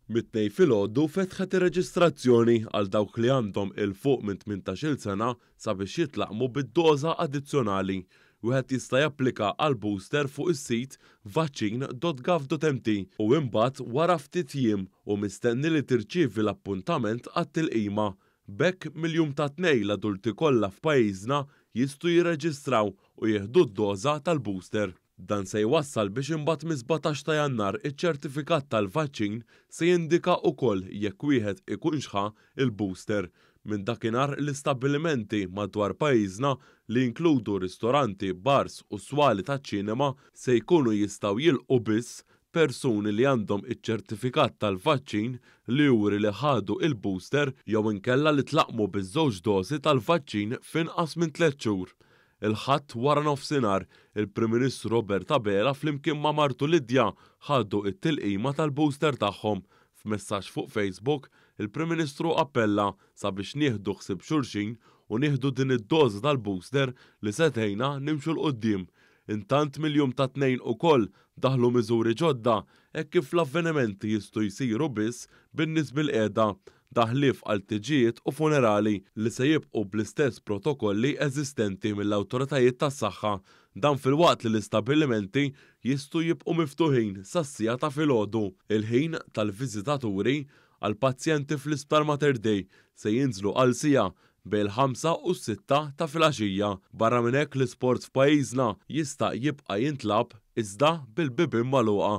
Mit-Tnejn filgħodu fetħet ir-reġistrazzjoni għal dawk li għandhom 'il fuq minn 18-il sena sabiex jitlaqqmu bid-doża addizzjonali. Wieħed jista' japplika għall-booster fuq is-sit vaccine.gov.mt u imbagħad wara ftit jiem hu mistenni li tirċievi l-appuntament għat-tilqima. B'hekk mill-jum tat-Tnejn l-adulti kollha f'pajjiżna jistgħu jirreġistraw u jieħdu d-doża tal-booster. Dan se jwassal biex imbagħad mis-17 ta' Jannar iċ-ċertifikat tal-vaċċin se jindika ukoll jekk wieħed ikunx ħa l-booster. Minn dakinhar l-istabbilimenti madwar pajjiżna li jinkludu ristoranti, bars u swali taċ-ċinema se jkunu jistgħu jilqgħu biss persuni li għandhom iċ-ċertifikat tal-vaċċin li juri li ħadu il-booster jew inkella li tlaqqmu biż-żewġ dożi tal-vaċċin f'inqas minn tlett xhur. Il-Ħadd waranofsinhar, il-Prim Ministru Robert Abela flimkien ma' martu Lydia ħadu t-tilqima tal-booster tagħhom. F'messaġġ fuq Facebook, il-Prim Ministru appella sabiex nieħdu ħsieb xulxin u nieħdu din id-doża tal-booster li se tgħinna nimxu 'l quddiem. Intant mill-jum tat-Tnejn ukoll daħlu miżuri ġodda hekk kif l-avvenimenti jistgħu jsiru biss bin-nies bilqiegħda, dan ħlief għal tiġijiet u funerali li se jibqgħu bl-istess protokolli eżistenti mill-awtoritajiet tas-saħħa. Dan filwaqt li l-istabbilimenti jistgħu jibqgħu miftuħin sas-siegħa ta' filgħodu. Il-ħin tal-viżitaturi għall-pazjenti fl-Isptar Mater Dei se jinżlu għal siegħa bejn il-ħamsa u s-sitta ta' filgħaxija. Barra minn hekk l-isport f'pajjiżna jista' jibqa' jintlagħab iżda bil-bibien magħluqa.